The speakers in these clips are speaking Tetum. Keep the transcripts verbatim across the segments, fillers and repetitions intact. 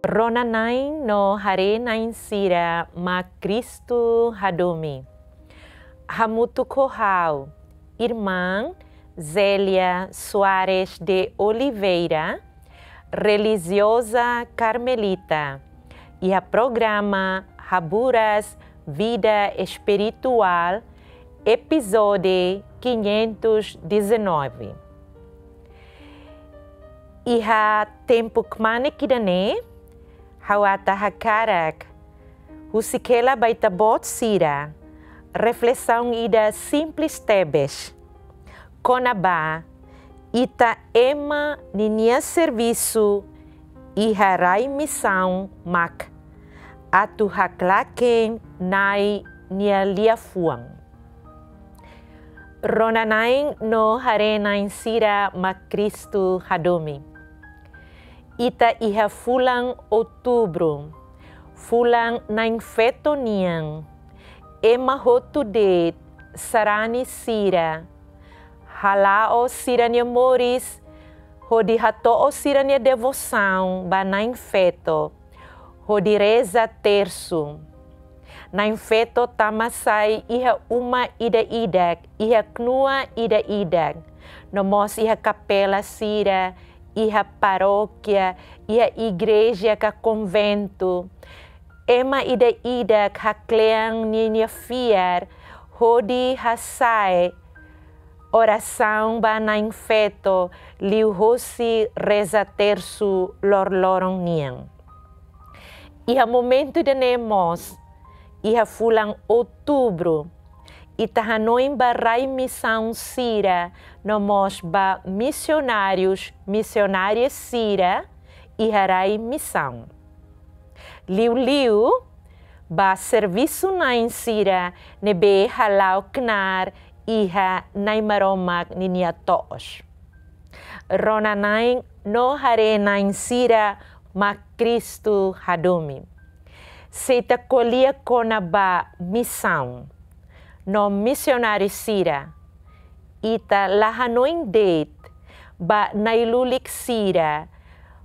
Rona-na'in no haree-na'in sira mak Kristu hadomi. Hamutuk ho ha'u, Irmã Zélia Soares de Oliveira, relijioza karmelita, iha programa Haburas Vida Espirituál, epizódiu quinhentos e dezanove. Iha tempu kmanek ida-ne'e, ha'u atu hakarak husik hela ba ita-boot sira reflesaun ida simples tebes, kona-ba ita ema ninia servisu iha rai misaun mak atu haklaken Na'i nia liafuan. Rona-na'in no haree-na'in sira mak Kristu hadomi. Ita iha fulan Outubru, fulan na'in-feto nian, ema hotu de'it sarani sira hala'o sira-nia moris hodi hato'o sira-nia devosaun ba na'in-feto hodi reza tersu. Na'in-feto tama sai iha uma ida-idak, iha knua ida-idak, no mós iha kapela sira, iha parókia, iha igreja ka konventu. Ema ida-idak haklean ninia fiar hodi hasa'e orasaun ba na'in-feto liuhosi reza tersu loroloron nian. Iha momentu ida-ne'e mós, iha fulan Outubru, ita hanoin ba rai misaun sira no mós ba misionárius, misionárias sira iha rai misaun. Liuliu ba servisu-na'in sira ne'ebé hala'o knaar iha Na'i Maromak ninia to'os. Rona-na'in no haree-na'in sira mak Kristu hadomi. Se ita ko'alia kona-ba misaun no misionáriu sira, ita la hanoin de'it ba na'i-lulik sira,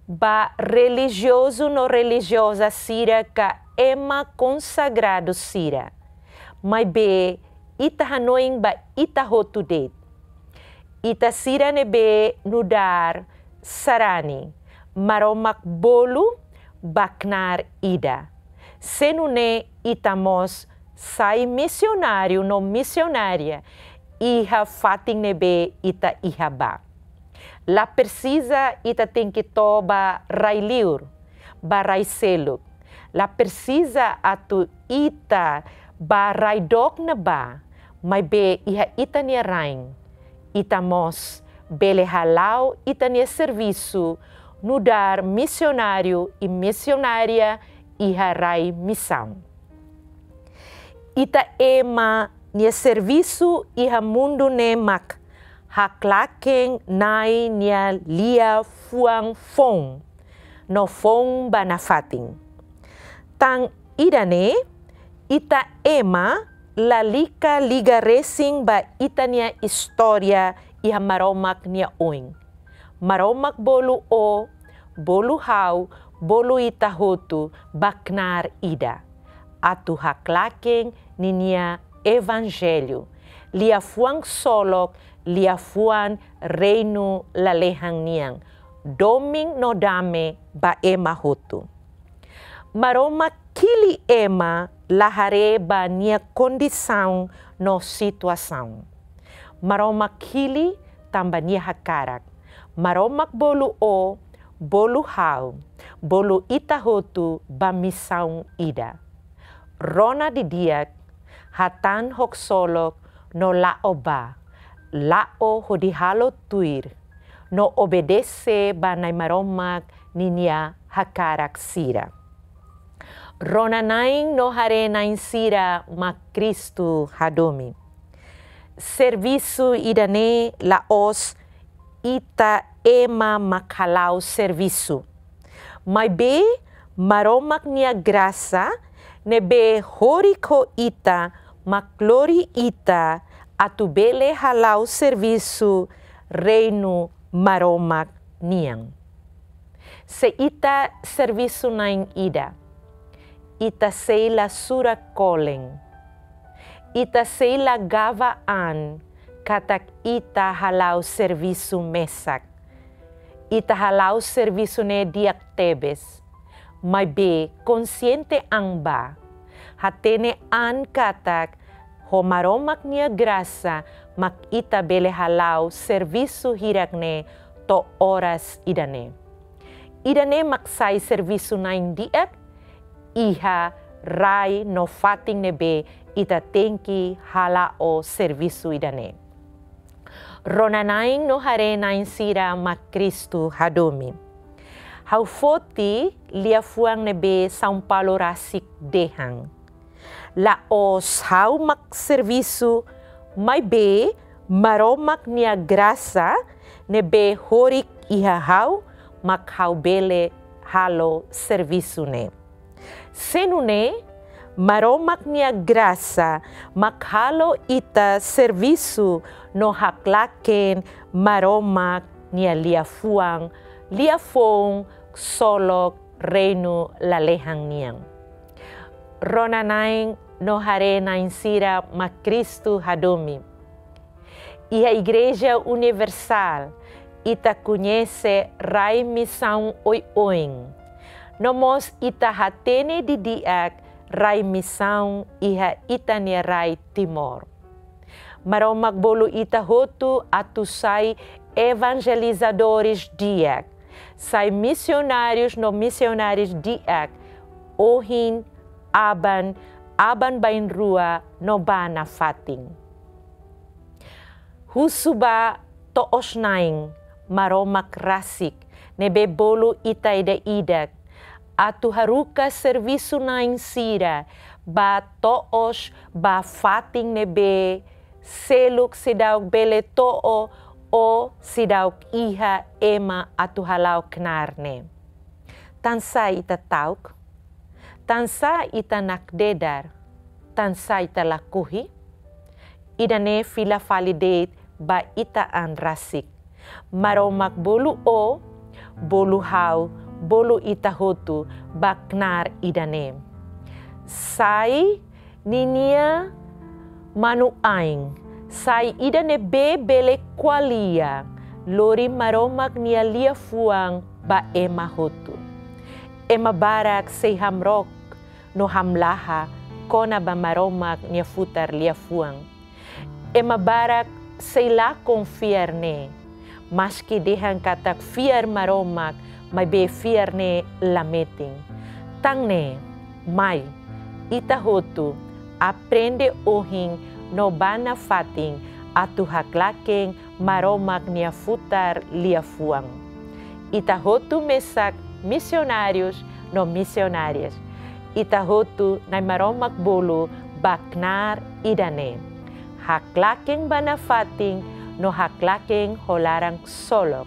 ba relijiozu no relijioza sira ka ema konsagradu sira. Maibé ita hanoin ba ita hotu de'it. Ita sira ne'ebé nu'udar sarani, Maromak bolu ba knaar ida. Se nune'e ita mós sai misionáriu no misionária iha fatin ne'ebé ita iha ba. La presiza ita tenke to'o ba rai-liur, ba rai seluk. La presiza atu ita ba rai dook ne'ebá, maibé iha ita-nia rain ita mós bele hala'o ita-nia servisu nu'udar misionáriu i misionária iha rai misaun. Ita ema nia servisu iha mundu ne'e mak haklaken Na'i nia liafuan foun no foun ba nafatin. Tan ida-ne'e, ita ema lalika liga resin ba ita-nia istória iha Maromak nia oin. Maromak bolu ó, bolu ha'u, bolu ita hotu ba knaar ida, atu haklaken ninia evanjellu, liafuan ksolok, liafuan reinu lalehan nian, domin no dame ba ema hotu. Maromak hili ema la haree ba nia kondisaun no situasaun. Maromak hili tanba nia hakarak. Maromak bolu ó, bolu ha'u, bolu ita hotu ba misaun ida. Rona didi'ak, hatán ho ksolok no la'o bá, la'o hodi halo tuir, no obedese ba Na'i Maromak ninia hakarak sira. Rona-na'in no haree-na'in sira mak Kristu hadomi. Servisu ida-ne'e la'ós ita ema mak hala'o servisu. Maibé Maromak nia grasa ne'ebé horik ho ita mak lori ita atu bele hala'o servisu reinu Maromak nian. Se ita servisu na'in ida, ita sei la sura kolen, ita sei la gaba an katak ita hala'o servisu mesak. Ita hala'o servisu ne'e di'ak tebes, maibé konsiente an ba, hatene an katak ho Maromak nia grasa mak ita bele hala'o servisu hirak ne'e to'o oras ida-ne'e. Ida-ne'e mak sai servisu na'in di'ak iha rai no fatin ne'ebé ita tenke hala'o servisu ida-ne'e. Rona-na'in no haree-na'in sira mak Kristu hadomi. Ha'u foti liafuan ne'ebé São Paulo rasik dehan. La'ós ha'u mak servisu, maibé Maromak nia grasa ne'ebé horik iha ha'u mak ha'u bele halo servisu ne'e. Se nune'e, Maromak nia grasa mak halo ita servisu no haklaken Maromak nia liafuan, liafoun ksolok reinu lalehan nian. Rona-na'in no haree-na'in sira mak Kristu hadomi. Iha Igreja Universál, ita koñese rai misaun oioin. No mós ita hatene didi'ak rai misaun iha ita-nia rai Timor. Maromak bolu ita hotu atu sai evanjelizadores di'ak, sai misionárius no misionárias di'ak, ohin, aban, aban-bainrua no ba nafatin. Husu ba to'os-na'in Maromak rasik ne'ebé bolu ita ida-idak atu haruka servisu-na'in sira ba to'os, ba fatin ne'ebé seluk seidauk bele to'o ou seidauk iha ema atu hala'o knaar ne'e. Tansá ita ta'uk? Tansá ita nakdedar? Tansá ita lakohi? Ida-ne'e fila fali de'it ba ita an rasik. Maromak bolu ó, bolu ha'u, bolu ita hotu ba knaar ida-ne'e. Sai ninia manu-ain, sai ida ne'ebé bele ko'alia, lori Maromak nia liafuan ba ema hotu. Ema barak sei hamrook no hamlaha kona-ba Maromak nia futar liafuan. Ema barak sei lakon fiar ne'e, maski dehan katak fiar Maromak, maibé fiar ne'e la metin. Tan ne'e, mai, ita hotu aprende ohin no ba nafatin atu haklaken Maromak nia futar liafuan. Ita hotu mesak misionárius no misionárias. Ita hotu Na'i Maromak bolu ba knaar ida-ne'e. Haklaken ba nafatin no haklaken ho laran ksolok.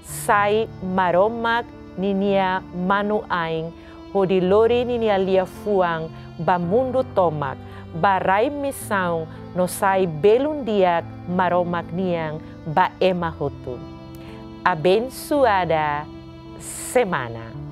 Sai Maromak ninia manu-ain hodi lori ninia liafuan ba mundu tomak, ba rai misaun no sai belun di'ak Maromak nian ba ema hotu. Abensoada semana.